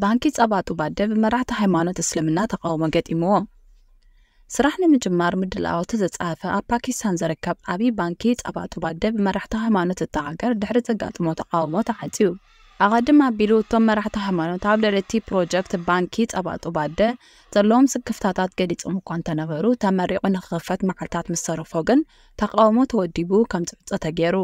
ባንኪ ጸባ ጡባደ ብመራሕቲ ሃይማኖት እስልምና ተቓውሞ ገጢምዎ። ስራሕ ንምጅማር ምድላዋቱ ዘጻፈ ኣብ ፓኪስታን ዝርከብ ዓቢ ባንኪ ጸባ ጡባደ ብመራሕቲ ሃይማኖት እታ ሃገር ድሕሪ ዘጋጥሞ ተቓውሞ ተዓጽዩ። ኣቐድም ኣቢሉ እቶም መራሕቲ ሃይማኖት ኣብ ልዕሊ እቲ ፕሮጀክት ባንኪ ጸባ ጡባደ ዘለዎም ስክፍታታት ገሊጾም እኳ እንተነበሩ፣ ተመሪቑ ንኽኽፈት መዓልታት ምስ ተረፎ ግን ተቓውሞ ተወዲቡ ከም ዝዕጾ ተገይሩ።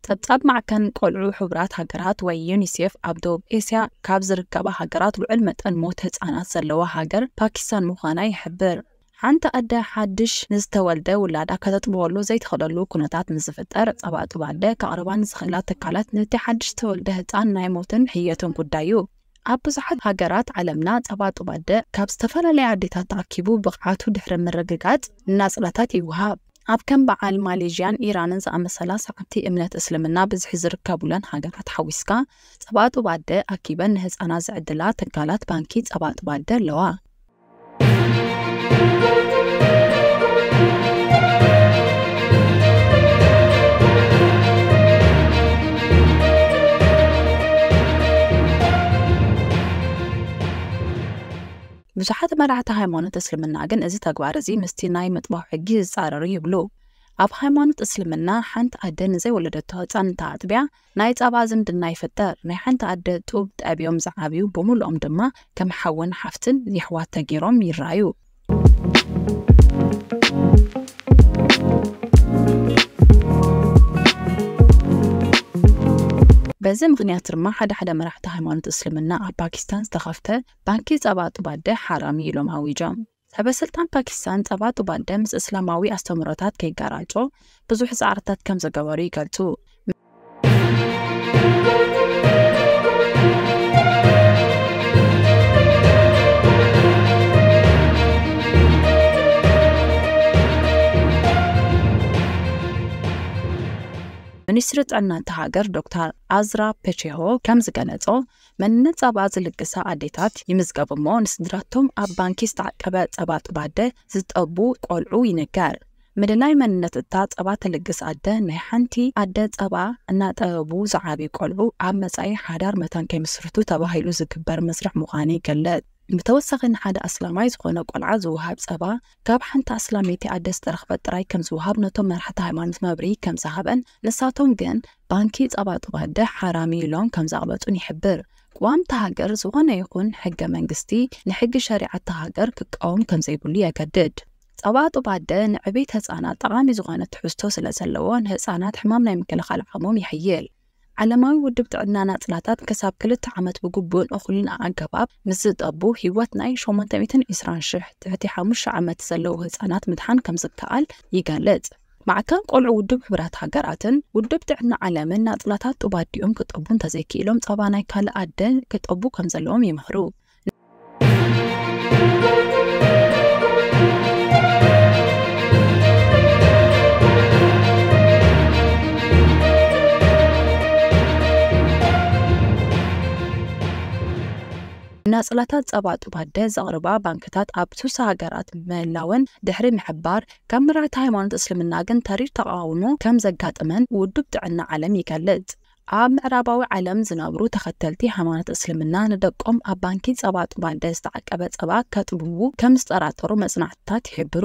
ጸብጻብ ማዕከን ቆልዑ ሕቡራት ሃገራት ወይ ዩኒሴፍ ኣብ ደቡብ ኤስያ ካብ ዝርከባ ሃገራት ልዑል መጠን ሞት ህጻናት ዘለዋ ሃገር ፓኪስታን ምዃና ይሕብር። ሓንቲ ኣደ ሓድሽ ንዝተወልደ ውላዳ ከተጥብወሉ ዘይትኽእለሉ ኩነታት ምስ ዝፍጠር፣ ጸባ ጡብ ኣደ ከቕርባ ንዝኽእላ ትካላት ነቲ ሓድሽ ዝተወልደ ህጻን ናይ ሞትን ሕየትን ጉዳዩ ኣብ ብዙሓት ሃገራት ዓለምና ጸባ ጡብ ኣደ ካብ ዝተፈላለያ ኣዴታት ተኣኪቡ ብቕዓቱ ድሕሪ ምርግጋጽ ንናጽላታት ይወሃብ። ኣብ ከም በዓል ማሌዥያን ኢራንን ዝኣመሰላ ሰዓብቲ እምነት እስልምና ብዝሒ ዝርከቡለን ሃገራት ሓዊስካ፣ ጸባ ጡብ ኣደ ኣኪበን ንህጻናት ዝዕድላ ትካላት ባንኪ ጸባ ጡብ ኣደ ኣለዋ። ብዙሓት መራሕቲ ሃይማኖት እስልምና ግን እዚ ተግባር እዚ ምስቲ ናይ ምጥባው ሕጊ ዝጻረር እዩ ይብሉ። ኣብ ሃይማኖት እስልምና ሓንቲ ኣደ ንዘይወለደቶ ህጻን እንተኣጥብያ ናይ ጸባ ዝምድና ይፍጠር። ናይ ሓንቲ ኣደ ጡብ ጠብዮም ዝዓብዩ ብምሉኦም ድማ ከም ሓውን ሓፍትን የሕዋት ተገይሮም ይረኣዩ። በዚ ምኽንያት ድማ ሓደ ሓደ መራሕቲ ሃይማኖት እስልምና ኣብ ፓኪስታን ዝተኸፍተ ባንኪ ጸባ ጡብ ኣደ ሓራም እዩ ኢሎም ኣዊጆም። ሰበ ስልጣን ፓኪስታን ጸባ ጡብ ኣደ ምስ እስላማዊ ኣስተምህሮታት ከይጋራጮ ብዙሕ ጻዕርታት ከም ዝገበሩ ይገልጹ። ሚኒስትሪ ጥዕና እታ ሃገር ዶክተር ኣዝራ ፔቼሆ ከም ዝገለጾ፣ መንነት ጸባ ዝልግሳ ኣዴታት ይምዝገቡ እሞ፣ ንስድራቶም ኣብ ባንኪ ዝተዓቀበ ጸባ ጡብ ኣደ ዝጠቡ ቆልዑ ይንገር። ምልላይ መንነት እታ ጸባ ትልግስ ኣደ፣ ናይ ሓንቲ ኣደ ጸባ እናጠበቡ ዝዓብዩ ቆልዑ ኣብ መጻኢ ሓዳር መታን ከይምስርቱ ተባሂሉ ዝግበር መስርሕ ምዃኑ ይገልጽ። ብተወሳኺ ንሓደ ኣስላማይ ዝኾነ ቆልዓ ዝወሃብ ጸባ ካብ ሓንቲ ኣስላመይቲ ኣደ ዝተረኽበ ጥራይ ከም ዝወሃብ ነቶም መራሕቲ ሃይማኖት መብርሂ ከም ዝሃበን ንሳቶም ግን ባንኪ ጸባ ጡብ ኣደ ሓራም እዩ ኢሎም ከም ዘቕበጹን ይሕብር። ቅዋም እታ ሃገር ዝኾነ ይኹን ሕገ መንግስቲ ንሕጊ ሸሪዓ እታ ሃገር ክቃወም ከም ዘይብሉ የገድድ። ጸባ ጡብ ኣደ ንዕቤት ህጻናት ጠቓሚ ዝኾነ ትሕዝቶ ስለ ዘለዎ ንህጻናት ሕማም ናይ ምክልኻል ዓቕሞም የሕይል። ዓለማዊ ውድብ ጥዕና ናጽላታት ክሳብ ክልተ ዓመት ብግቡእን እኹልን ኣገባብ ምስ ዝጠቡ፣ ህይወት ናይ ሸሞንተ ሚእትን ዕስራን ሽሕ ትሕቲ ሓሙሽተ ዓመት ዘለዉ ህጻናት ምድሓን ከም ዝከኣል ይገልጽ። ማዕከን ቆልዑ ውድብ ሕቡራት ሃገራትን ውድብ ጥዕና ዓለምን ናጽላታት ጡብ ኣዲኦም ክጠቡ እንተዘይክኢሎም ጸባ ናይ ካልእ ኣደ ክጠቡ ከም ዘለዎም ይምህሩ። ናጽላታት ጸባ ጡብ ኣደ ዘቕርባ ባንክታት ኣብ ስሳ ሃገራት ምህላወን ድሕሪ ምሕባር፣ ካብ መራሕቲ ሃይማኖት እስልምና ግን ተሪር ተቓውሞ ከም ዘጋጠመን ውድብ ጥዕና ዓለም ይገልጽ። ኣብ ምዕራባዊ ዓለም ዝነብሩ ተኸተልቲ ሃይማኖት እስልምና ንደቆም ኣብ ባንኪ ጸባ ጡብ ኣደ ዝተዓቀበ ጸባ ከጥብቡ ከም ዝጠራጠሩ መጽናዕትታት ይሕብሩ።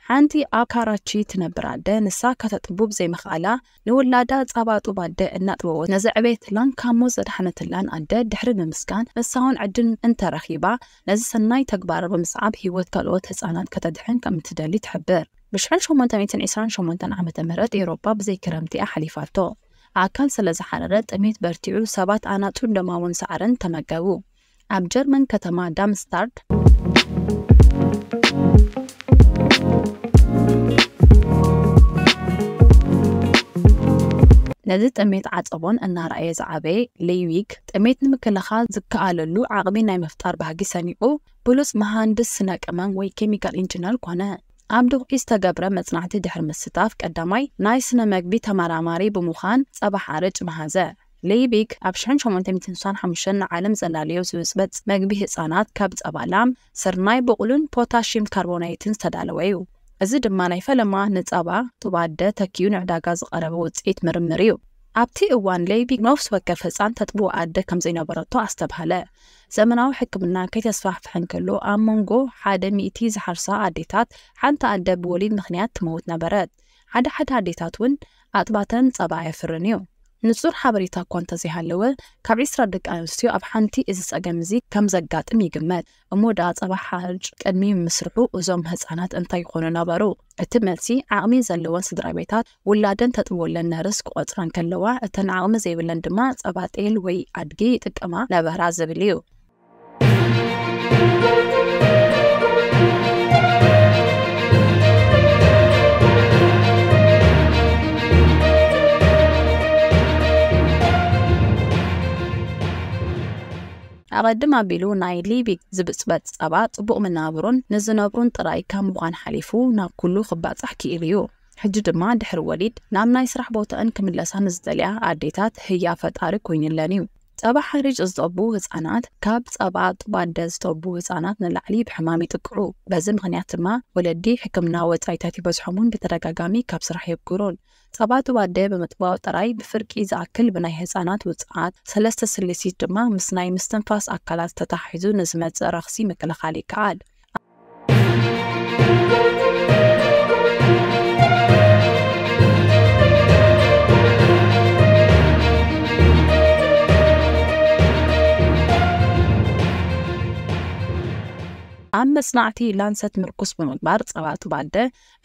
ሓንቲ ኣብ ካራቺ ትነብር ኣደ ንሳ ከተጥቡ ብዘይምኽኣላ ንውላዳ ጸባ ጡብ ኣደ እናጥበወት ነዘዕበየትላን ካብ ሞት ዘድሓነትላን ኣደ ድሕሪ ምምስጋን፣ ንሳ እውን ዕድል እንተረኺባ ነዚ ሰናይ ተግባራ ብምስዓብ ህይወት ካልኦት ህጻናት ከተድሕን ከም እትደሊ ትሕብር። ብ ሽሕን ሸሞንተ ሚእትን ዕስራን ሸሞንተን ዓመተ ምህረት ኤውሮጳ ብዘይ ክረምቲ እያ ሓሊፋቶ። ኣካል ስለ ዝሓረረ ጥሜት በርቲዑ ሰባት ኣናጹን ደማውን ሳዕርን ተመገቡ። ኣብ ጀርመን ከተማ ዳምስታርድ ነዚ ጥሜት ዓጸቦን እናረኣየ ዝዓበየ ሌይዊግ ጥሜት ንምክልኻል ዝከኣለሉ ዓቕሚ ናይ ምፍጣር ባህጊ ሰኒቑ ብሉጽ መሃንድስ ስነ ቀመም ወይ ኬሚካል ኢንጂነር ኮነ። ኣብ ድኹዒ ዝተገብረ መጽናዕቲ ድሕሪ ምስታፍ ቀዳማይ ናይ ስነ መግቢ ተመራማሪ ብምዃን ጸባ ሓርጭ መሃዘ። ሌይቢክ ኣብ ሽሕን ሸሞንተ ሚእትን ስሳን ሓሙሽተን ንዓለም ዘላለዮ ዝብጽበጽ መግቢ ህጻናት ካብ ጸባ ላም፣ ስርናይ፣ ብቑሉን ፖታሽየም ካርቦናይትን ዝተዳለወ እዩ። እዚ ድማ ናይ ፈለማ ንጸባ ጡብ ኣደ ተኪኡ ንዕዳጋ ዝቐረበ ውጽኢት ምርምር እዩ። ኣብቲ እዋን ሌይቢክ ነፍሲ ወከፍ ህጻን ተጥቡ ኣደ ከም ዘይነበረቶ ኣስተብሃለ። ዘመናዊ ሕክምና ከይተስፋሕፍሐ እንከሎ ኣብ መንጎ ሓደ ሚእቲ ዝሓርሳ ኣዴታት ሓንቲ ኣደ ብወሊድ ምኽንያት ትመውት ነበረት። ሓደ ሓደ ኣዴታት እውን ኣጥባተን ጸባ ኣየፍርን እዩ። ንጹር ሓበሬታ እኳ እንተዘይሃለወ፣ ካብ ዒስራ ደቂ ኣንስትዮ ኣብ ሓንቲ እዚ ጸገም እዚ ከም ዘጋጥም ይግመት። እሞ ደኣ ጸባ ሓርጭ ቅድሚ ምስርሑ እዞም ህጻናት እንታይ ይኾኑ ነበሩ? እቲ መልሲ ዓቕሚ ዘለወን ስድራ ቤታት ውላደን ተጥብወለን ነርስ ክቖጽራ እንከለዋ፣ እተን ዓቕሚ ዘይብለን ድማ ጸባ ጤል ወይ ኣድጊ ይጥቀማ ነበራ ዝብል እዩ። ኣቐድም ኣቢሉ ናይ ሊቢክ ዝብጽበጽ ጸባ ጽቡቕ መናብሮን ንዝነብሩን ጥራይ ካብ ምዃን ሓሊፉ ናብ ኩሉ ክባጻሕ ክኢሉ እዩ። ሕጂ ድማ ድሕሪ ወሊድ ናብ ናይ ስራሕ ቦታኣን ክምለሳ ንዝደልያ ኣዴታት ህያ ፈጣሪ ኮይኑለን እዩ። ጸባ ሓሪጭ ዝጠቡ ህጻናት ካብ ጸባ ጡብ ኣደ ዝጠቡ ህጻናት ንላዕሊ ብሕማም ይጥቅዑ። በዚ ምኽንያት ድማ ወለዲ ሕክምና ወጻኢታት ይበዝሖምን ብተደጋጋሚ ካብ ስራሕ የብግሩን። ጸባ ጡብ ኣደ ብምጥባው ጥራይ ብፍርቂ ዝኣክል ብናይ ህጻናት ውጽዓት፣ ሰለስተ ስልሲት ድማ ምስ ናይ ምስትንፋስ ኣካላት ተተሓሒዙ ንዝመጽእ ረኽሲ ምክልኻል ይከኣል። ኣብ መጽናዕቲ ላንሰት ምርኩስ ብምግባር ጸባ ጡብ ኣደ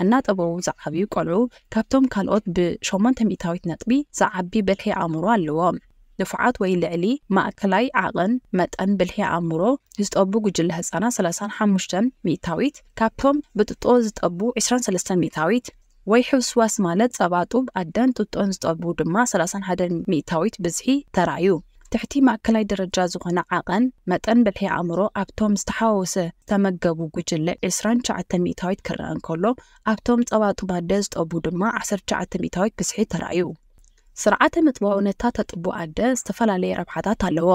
እናጠበቡ ዝዓብዩ ቆልዑ ካብቶም ካልኦት ብሸሞንተ ሚእታዊት ነጥቢ ዝዓቢ ብልሒ ኣእምሮ ኣለዎም። ንፉዓት ወይ ልዕሊ ማእከላይ ዓቐን መጠን ብልሒ ኣእምሮ ዝጠቡ ጉጅለ ህጻናት ሰላሳን ሓሙሽተን ሚእታዊት፣ ካብቶም ብጥጦ ዝጠቡ ዒስራን ሰለስተን ሚእታዊት፣ ወይ ሕውስዋስ ማለት ጸባ ጡብ ኣደን ጥጦን ዝጠቡ ድማ ሰላሳን ሓደን ሚእታዊት ብዝሒ ተራእዩ። ትሕቲ ማእከላይ ደረጃ ዝኾነ ዓቐን መጠን ብልሒ ኣእምሮ ኣብቶም ዝተሓዋወሰ ዝተመገቡ ጉጅለ ዒስራን ትሽዓተ ሚእታዊት ክረአ እንከሎ፣ ኣብቶም ጸባ ጡብ ኣደ ዝጠቡ ድማ ዓሰርተ ትሽዓተ ሚእታዊት ብዝሒ ተራእዩ። ስርዓተ ምጥባው ነታ ተጥቡ ኣደ ዝተፈላለየ ረብሓታት ኣለዎ።